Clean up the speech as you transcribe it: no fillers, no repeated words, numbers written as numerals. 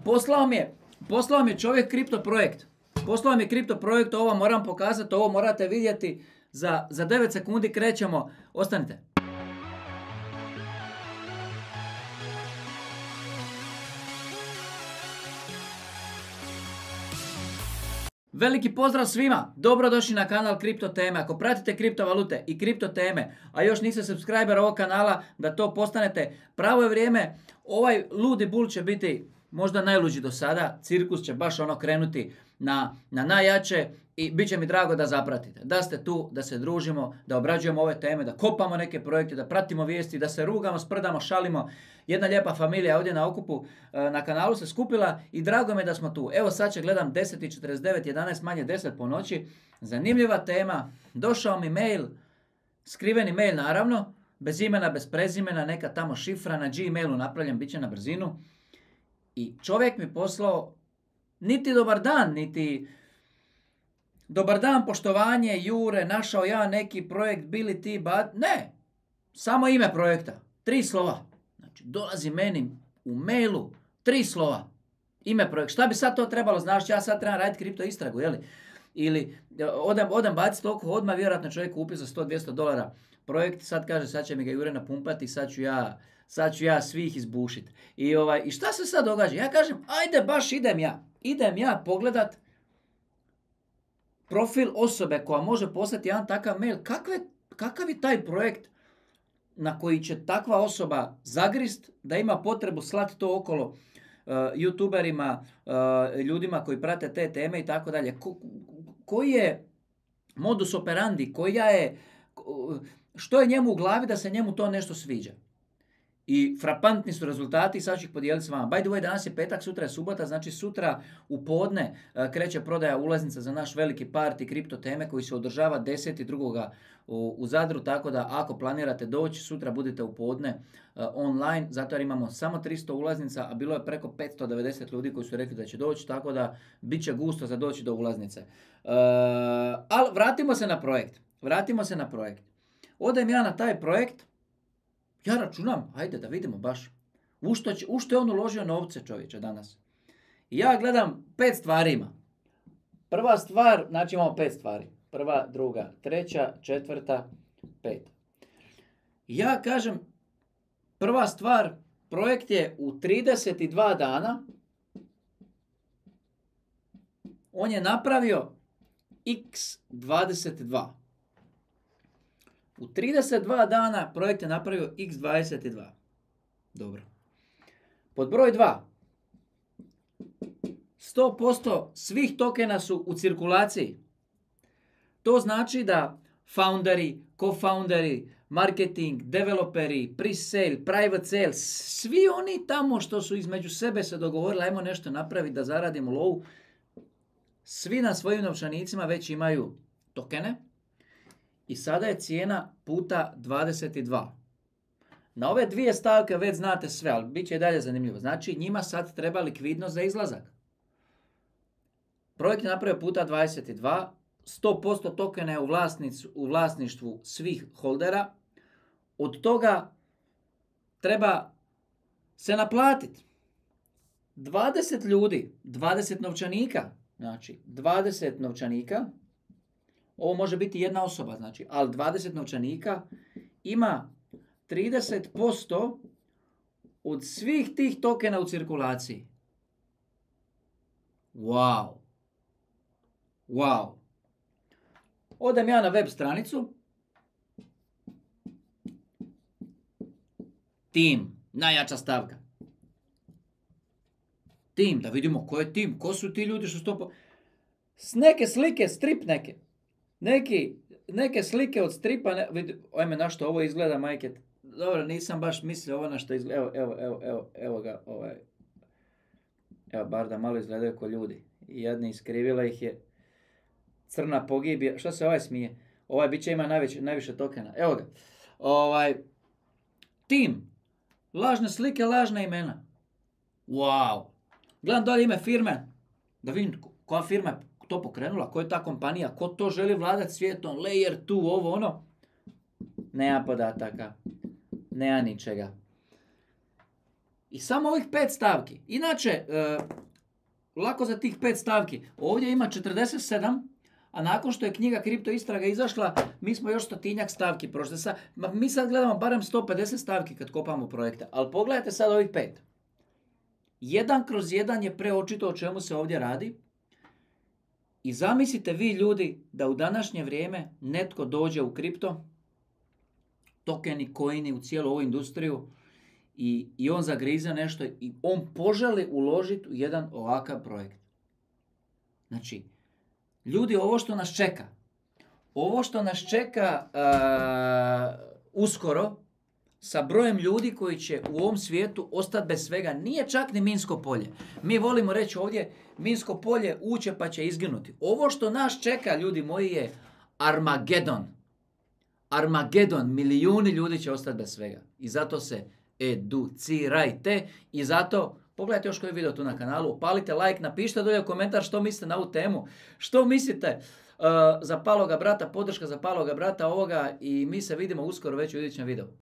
poslao mi je čovjek kripto projekt. Poslao mi je kripto projekt, ovo moram pokazati, ovo morate vidjeti. Za 9 sekundi krećemo. Ostanite. Veliki pozdrav svima, dobrodošli na kanal Kripto Teme. Ako pratite kriptovalute i kripto teme, a još niste subscriber ovog kanala, da to postanete, pravo je vrijeme. Ovaj ludi bul će biti možda najluđi do sada, cirkus će baš krenuti na najjače i bit će mi drago da zapratite. Da ste tu, da se družimo, da obrađujemo ove teme, da kopamo neke projekte, da pratimo vijesti, da se rugamo, sprdamo, šalimo. Jedna lijepa familija ovdje na okupu na kanalu se skupila i drago mi je da smo tu. Evo sad će gledam 10:49, 11 manje 10 po noći. Zanimljiva tema. Došao mi mail, skriveni mail naravno, bez imena, bez prezimena, neka tamo šifra na Gmailu napravljen, bit će na brzinu. I čovjek mi poslao niti dobar dan, niti dobar dan, poštovanje, Jure, našao ja neki projekt, bili ti, ne, samo ime projekta, 3 slova. Znači, dolazi meni u mailu 3 slova, ime projekta. Šta bi sad to trebalo, znaš, ja sad trebam raditi kripto istragu, jeli? Ili odem baciti toliko odmah, vjerojatno čovjek kupio za $100-200 projekt, sad kaže, sad će mi ga Jure napumpati, sad ću ja svih izbušiti. I šta se sad događa? Ja kažem, ajde, baš idem ja pogledat profil osobe koja može poslati jedan takav mail. Kakav je taj projekt na koji će takva osoba zagrist da ima potrebu slati to okolo youtuberima, ljudima koji prate te teme i tako dalje. Koji je modus operandi, što je njemu u glavi da se njemu to nešto sviđa. I frapantni su rezultati, sad ću ih podijeliti s vama. By the way, danas je petak, sutra je subota, znači sutra u podne kreće prodaja ulaznica za naš veliki party kripto teme koji se održava 10.2. u Zadru, tako da ako planirate doći, sutra budite u podne online, zato jer imamo samo 300 ulaznica, a bilo je preko 590 ljudi koji su rekli da će doći, tako da bit će gusto za doći do ulaznice. Ali vratimo se na projekt. Odem ja na taj projekt. Ja računam, ajde da vidimo baš, u što je on uložio novce, čovječe, danas. I ja gledam 5 stvari ima. Prva stvar, znači imamo 5 stvari. Prva, druga, treća, četvrta, peta. I ja kažem, prva stvar, projekt je u 32 dana, on je napravio x22. U 32 dana projekt je napravio x22. Dobro. Pod broj 2. 100% svih tokena su u cirkulaciji. To znači da founderi, co-founderi, marketing, developeri, pre-sale, private sale, svi oni tamo što su između sebe se dogovorili, ajmo nešto napraviti da zaradimo low, svi na svojim novčanicima već imaju tokene. I sada je cijena puta 22. Na ove dvije stavke već znate sve, ali bit će i dalje zanimljivo. Znači, njima sad treba likvidnost za izlazak. Projekt je napravio puta 22, 100% tokena je u vlasništvu svih holdera. Od toga treba se naplatiti 20 ljudi, 20 novčanika. Znači, 20 novčanika. Ovo može biti jedna osoba, znači, ali 20 novčanika ima 30% od svih tih tokena u cirkulaciji. Wow. Odem ja na web stranicu. Tim, najjača stavka. Tim, da vidimo ko je tim, ko su ti ljudi što su to... S neke slike, strip neke. Neke slike od stripa, ajme na što ovo izgleda, majke. Dobro, nisam baš mislio ovo na što izgleda, evo ga, evo, bar da malo izgledaju ko ljudi. Jedni iskrivila ih je crna pogibija, što se ovaj smije? Ovaj biće ima najviše tokena, evo ga. Tim, lažne slike, lažna imena. Wow. Gledam dolje ime firme, da vidim koja firma je to pokrenula, ko je ta kompanija, ko to želi vladati svijetom, layer 2, ovo ono. Nema podataka, nema ničega. I samo ovih 5 stavki. Inače, lako za tih 5 stavki. Ovdje ima 47, a nakon što je knjiga Kripto istraga izašla, mi smo još 100-tinjak stavki prošli. Mi sad gledamo barem 150 stavki kad kopamo projekte. Ali pogledajte sad ovih 5. 1/1 je preočito o čemu se ovdje radi. I zamislite vi ljudi da u današnje vrijeme netko dođe u kripto, tokeni, coini, u cijelu ovu industriju i on zagrize nešto i on poželi uložiti u jedan ovakav projekt. Znači, ljudi, ovo što nas čeka uskoro, sa brojem ljudi koji će u ovom svijetu ostati bez svega, nije čak ni minsko polje. Mi volimo reći ovdje, minsko polje uće pa će izginuti. Ovo što nas čeka, ljudi moji, je Armagedon. Armagedon, milijuni ljudi će ostati bez svega. I zato se educirajte. I zato, pogledajte još koji video tu na kanalu, upalite like, napišite dolje u komentar što mislite na ovu temu. Što mislite za Paloga brata, podrška za Paloga brata ovoga i mi se vidimo uskoro već u idućem videu.